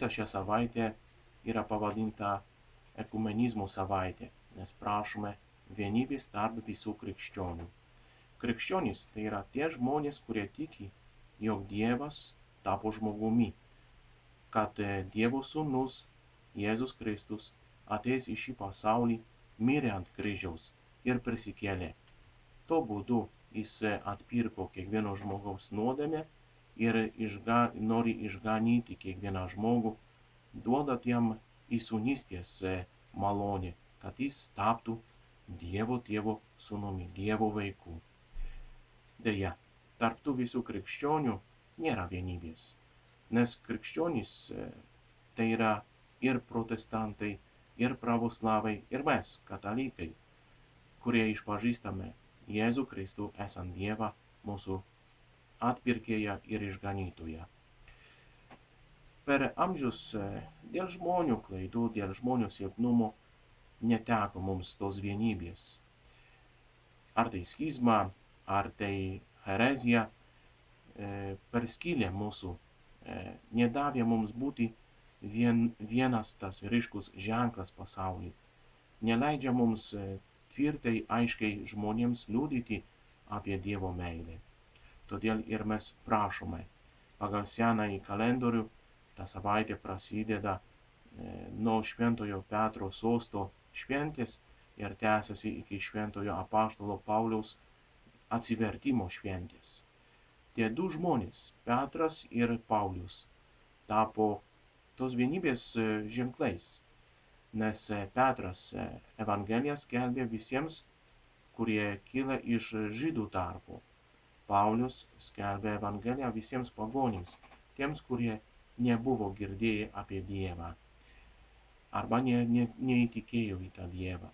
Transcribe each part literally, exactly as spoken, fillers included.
visa šią savaitę yra pavadinta ekumenizmo savaitė, nes prašome vienybės tarp visų krikščionių. Krikščionys tai yra tie žmonės, kurie tiki, jog Dievas tapo žmogumi, kad Dievo sūnus Jėzus Kristus atėjęs į šį pasaulį, mirė ant kryžiaus ir prisikėlė. Tuo būdu jis atpirko kiekvieno žmogaus nuodėmę ir išga, nori išganyti kiekvieną žmogų, duodant jam įsūnystės malonę, kad jis taptų Dievo tėvo sūnumi, Dievo vaikų. Deja, tarp tų visų krikščionių nėra vienybės, nes krikščionys tai yra ir protestantai, ir pravoslavai, ir mes, katalikai, kurie išpažįstame Jėzų Kristų esant Dievą, mūsų atpirkėją ir išganytoją. Per amžius dėl žmonių klaidų, dėl žmonių silpnumo neteko mums tos vienybės. Ar tai schizma, ar tai herezija perskylė mūsų, nedavė mums būti vien, vienas tas ryškus ženklas pasaulyje, neleidžia mums tvirtai, aiškiai žmonėms liudyti apie Dievo meilę. Todėl ir mes prašome, pagal senąjį kalendorių, ta savaitė prasideda nuo Šventojo Petro sosto šventės ir tęsiasi iki Šventojo apaštalo Pauliaus atsivertimo šventės. Tie du žmonės, Petras ir Paulius, tapo tos vienybės ženklais, nes Petras Evangeliją skelbė visiems, kurie kyla iš žydų tarpo. Paulius skelbė Evangeliją visiems pagonims, tiems, kurie nebuvo girdėję apie Dievą arba ne, ne, neįtikėjo į tą Dievą.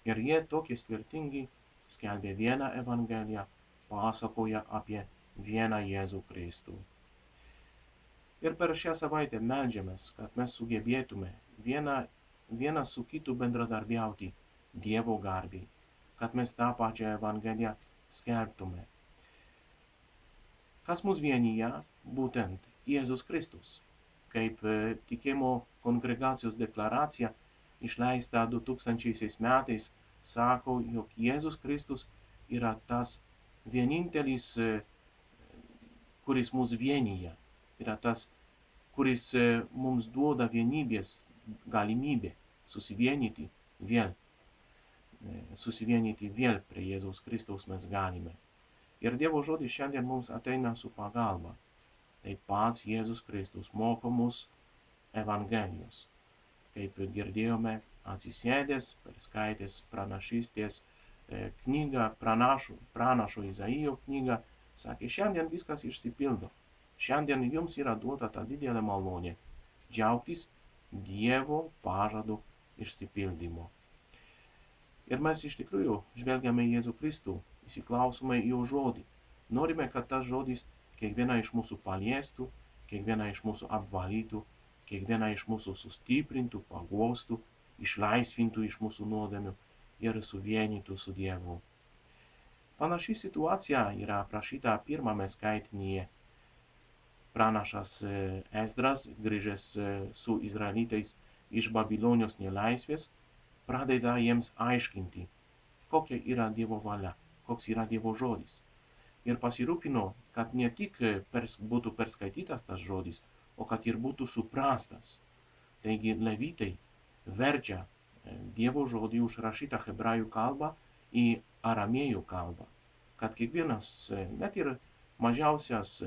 Ir jie tokie skirtingi skelbė vieną Evangeliją, pasakoja apie vieną Jėzų Kristų. Ir per šią savaitę meldžiamės, kad mes sugebėtume vieną, vieną su kitu bendradarbiauti Dievo garbei, kad mes tą pačią Evangeliją skelbtume. Kas mus vienyje? Būtent Jėzus Kristus. Kaip tikėjimo kongregacijos deklaracija išleista du tūkstančiaisiais metais sako, jog Jėzus Kristus yra tas vienintelis, kuris mus vienyje, yra tas, kuris mums duoda vienybės galimybę susivienyti vėl. Susivienyti vėl prie Jėzaus Kristaus mes galime. Ir Dievo žodis šiandien mums ateina su pagalba. Tai pats Jėzus Kristus moko mus Evangelijos. Kaip girdėjome, atsisėdęs, perskaitęs pranašystės knygą, pranašo, pranašo Izaijo knygą, sakė, šiandien viskas išsipildo. Šiandien jums yra duota ta didelė malonė džiaugtis Dievo pažadų išsipildymo. Ir mes iš tikrųjų žvelgiame į Jėzų Kristų, įsiklausome į jo žodį. Norime, kad tas žodis kiekvieną iš mūsų paliestų, kiekvieną iš mūsų apvalytų, kiekvieną iš mūsų sustiprintų, paguostų, išlaisvintų iš mūsų nuodėmių ir suvienytų su Dievu. Panaši situacija yra aprašyta pirmame skaitinyje. Pranašas Esdras, grįžęs su izraelitais iš Babilonijos nelaisvės, pradeda jiems aiškinti, kokia yra Dievo valia, koks yra Dievo žodis. Ir pasirūpino, kad ne tik pers, būtų perskaitytas tas žodis, o kad ir būtų suprastas. Taigi levitai verčia Dievo žodį užrašytą hebrajų kalbą į aramėjų kalbą, kad kiekvienas, net ir mažiausias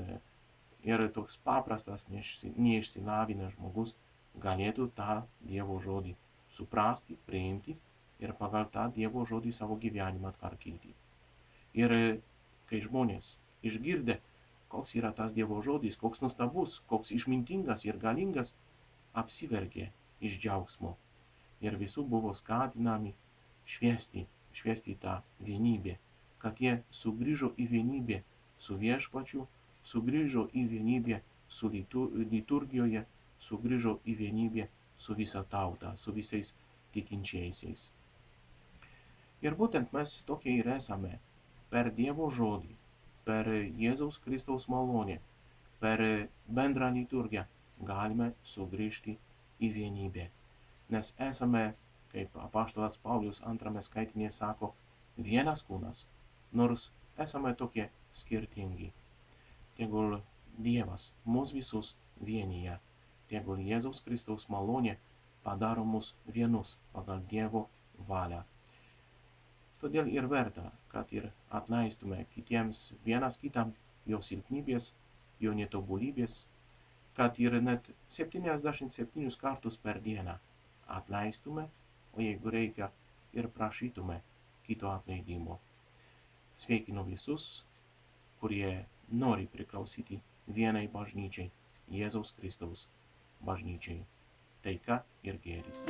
ir toks paprastas, neišsilavinęs žmogus galėtų tą Dievo žodį suprasti, priimti ir pagal tą Dievo žodį savo gyvenimą tvarkyti. Ir kai žmonės išgirdę, koks yra tas Dievo žodis, koks nuostabus, koks išmintingas ir galingas, apsiverkė iš džiaugsmo. Ir visų buvo skatinami šviesti, šviesti tą vienybę, kad jie sugrįžo į vienybę su viešpačiu, sugrįžo į vienybę su liturgijoje, sugrįžo į vienybę su visa tauta, su visais tikinčiaisiais. Ir būtent mes tokie ir esame. Per Dievo žodį, per Jėzaus Kristaus malonę, per bendrą liturgiją galime sugrįžti į vienybę. Nes esame, kaip apaštalas Paulius antrame skaitinėje sako, vienas kūnas, nors esame tokie skirtingi. Tegul Dievas mus visus vienyje, tegul Jėzaus Kristaus malonė padaro mus vienus pagal Dievo valią. Todėl ir verta, kad ir atleistume kitiems vienas kitam jo silpnybės, jo netobulybės, kad ir net septyniasdešimt septynis kartus per dieną atleistume, o jeigu reikia, ir prašytume kito atleidimo. Sveikinu visus, kurie nori priklausyti vienai bažnyčiai, Jėzaus Kristaus bažnyčiai. Taika ir gėris.